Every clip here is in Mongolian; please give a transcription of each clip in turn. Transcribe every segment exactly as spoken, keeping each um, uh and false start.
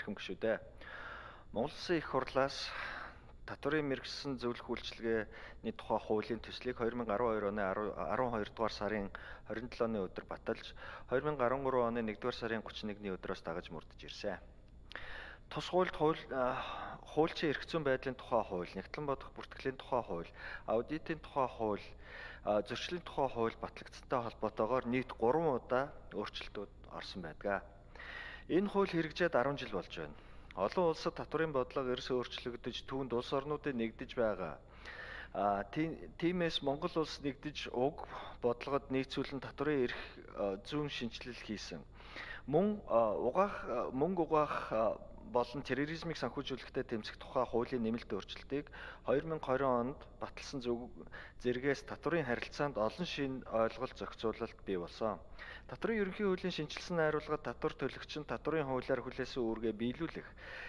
эрхэм гишүүдээ. Монгол Улсын их хурлаас татварын мэргэжсэн зөвлөх үйлчилгээний тухай хуулийн төслийг две тысячи арван хоёр оны арван хоёр дугаар сарын хорин долооны өдөр баталж, две тысячи арван гурван оны нэгдүгээр сарын гуравч нэгний өдрөөс дагаж мөрдөж ирсэн. Тус хуульд хууль хуульчийн эрх зүйн байдлын тухай хууль, нэгтлэн бодох бүртгэлийн тухай хууль, аудитын тухай хууль, зөрчлийн тухай хууль батлагдсантай холбоотойгоор нийт гурван удаа өөрчлөлтүүд орсон байдаг. Энэ хууль хэрэгжээд арван жил болж байна. Олон улсад татварын бодлого эрс өөрчлөгдөж, түүнд улс орнуудын нэгдэж байгаа. А тиймээс Монгол улс нэгдэж уг бодлогод нийцүүлэн татварын эрх зүйн шинжилэл хийсэн. Мөн угаах мөнгө угаах болон терроризмыг санхүүжүүлэхтэй тэмцэх тухай хуулийн нэмэлт өөрчлөлтийг две тысячи двадцать онд баталсан зэргээс татварын харилцаанд олон шинэ ойлголт зохицуулалт бий болсон. Татварын ерөнхий хуулийн шинжилсэн найруулга татвар төлөгч нь татварын хуулиар хүлээсэн үүргээ биелүүлэх,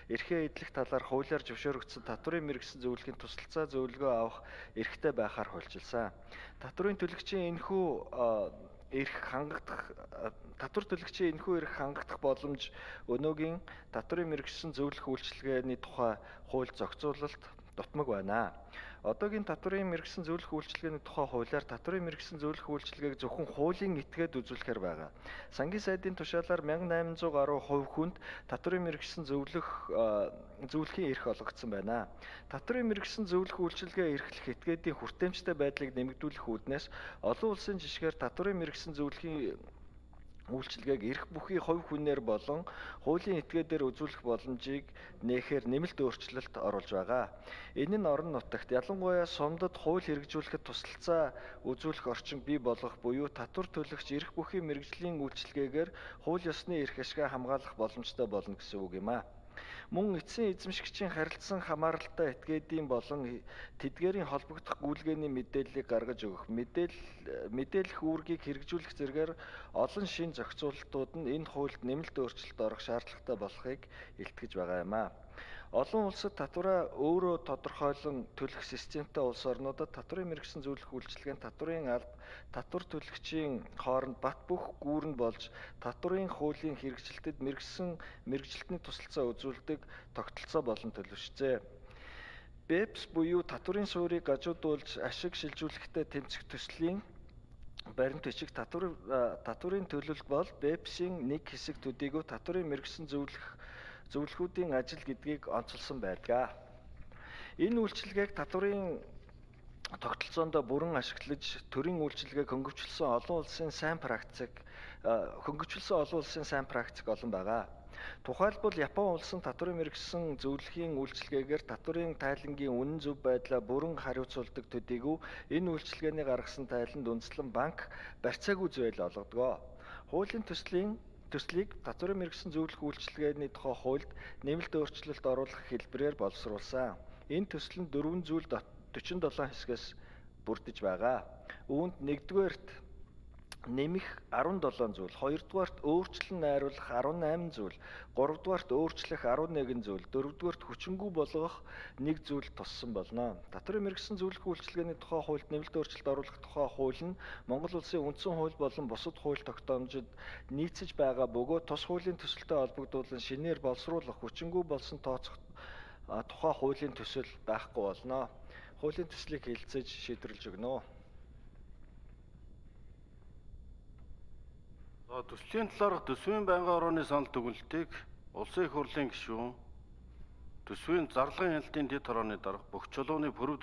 эрхээ эдлэх талаар хуулиар зөвшөөрөгдсөн татварын мэргэжсэн зөвлөхийн тусалцаа зөвлөгөө авах эрхтэй байхаар хуульчилсан. Татварын төлөгчийн энэхүү эрх хангагдах татвар төлөгчийн энэхүү эрх хангагдах боломж өнөөгийн татварын мэргэжсэн зөвлөх үйлчилгээний тухай хууль зохицуулалт дутмаг байна. Одоогийн татварын мэргэжсэн зөвлөх үйлчилгээний тухай хуулиар татварын мэргэжсэн зөвлөх үйлчилгээг зөвхөн хуулийн этгээд үзүүлэхээр байгаа. Сангийн сайдын тушаалаар мянга найман зуун гаруй хувь хүнд татварын мэргэжсэн зөвлөх зөвлөхийн эрх олгогдсон байна. Татварын мэргэжсэн зөвлөх үйлчилгээ эрхлэх этгээдийн хүртээмжтэй байдлыг нэмэгдүүлэх үүднээс олон улсын жишгээр татварын мэргэжсэн зөвлөхийн үйлчилгээг эрх бүхий хувь хүнээр болон хуулийн этгээдээр үзүүлэх боломжийг нээхээр нэмэлт өөрчлөлт оруулж байгаа. Энэ нь орон нутагт ялангуяа сумдад хууль хэрэгжүүлэхэд тусалцаа үзүүлэх орчин бий болгох буюу татвар төлөгч эрх бүхий мэргэжлийн үйлчилгээгээр хууль ёсны эрх ашгаа хамгаалах боломжтой болно гэсэн үг юм а. Мөн эцсийн эзэмшигчийн харилцан хамааралтай этгээдийн болон тэдгээрийн холбогдох гүйлгээний мэдээллийг гаргаж өгөх, мэдээлэл мэдээлэх үүргийг хэрэгжүүлэх зэргээр олон шин зохицуулалтууд нь энэ хуульд нэмэлт өөрчлөлт орох шаардлагатай болохыг илтгэж байгаа юм а. Олон улсад татвараа өөрөө тодорхойлон төлөх системтэй улс орнуудад татварын мэргэжсэн зөвлөх үйлчилгээнд татварын алба татвар төлөгчийн хооронд бат бөх гүүрэн болж татварын хуулийн хэрэгжилтэд мэргэжсэн мэргэжилтний тусалцаа үзүүлдэг тогтолцоо болон төлөвшжээ. БЭПС буюу татварын суурийг гажуудуулж ашиг шилжүүлэхтэй тэмцэх төслийн баримт бичиг татвар татварын төлөлт бол БЭПС-ийн нэг хэсэг төдийгүй татварын мэргэжсэн зөвлөх зөвлөхүүдийн ажил гэдгийг онцолсон байдаг. Энэ үйлчилгээг татварын тогтолцоонд бүрэн ашиглаж төрийн үйлчилгээг хөнгөвчлсөн олон улсын сайн практик хөнгөвчлсөн олон улсын сайн практик олон байгаа. Тухайлбал Япон улсын татварын мэргэжсэн зөвлөхийн үйлчилгээгээр татварын тайлангийн үнэн зөв байдлаа бүрэн хариуцуулдаг төдийгүй энэ үйлчилгээний гаргасан тайланд үндэслэн банк барьцаагүй зээл олгодог. Хуулийн төслийн төслийг татварын мэргэжсэн зөвлөх үйлчилгээний тухай хуульд нэмэлт өөрчлөлт оруулах хэлбэрээр боловсруулсан. Энэ төсөл нь дөрвөн зүйл forty seven хэсгээс бүрдэж байгаа. Үүнд нэгдүгээрт нэмэх seventeen зүйл, хоёрдугаарт өөрчлөн найруулах eighteen зүйл, гуравдугаарт өөрчлөх eleven зүйл, дөрөвдүгээрт хүчингүй болгох нэг зүйл туссан болно. Татварын мэргэжсэн зөвлөх үйлчилгээний тухай хуульд нэмэлт өөрчлөлт оруулах тухай хууль нь Монгол улсын үндсэн хууль болон бусад хууль тогтоомжид нийцэж байгаа бөгөөд тус хуулийн төсөлтэй холбогдуулан шинээр боловсруулах хүчингүй болсон тооцох тухай хуулийн төсөл байхгүй болно. Хуулийн төслийг хэлэлцэж шийдвэрлэж өгнө. Төслийн талаарх төсвийн байнгын орооны санал дүгнэлтийг улсын их хурлын гишүүн төсвийн зарлага хяналтын дэд хорооны дарга бүх чулууны пүрэв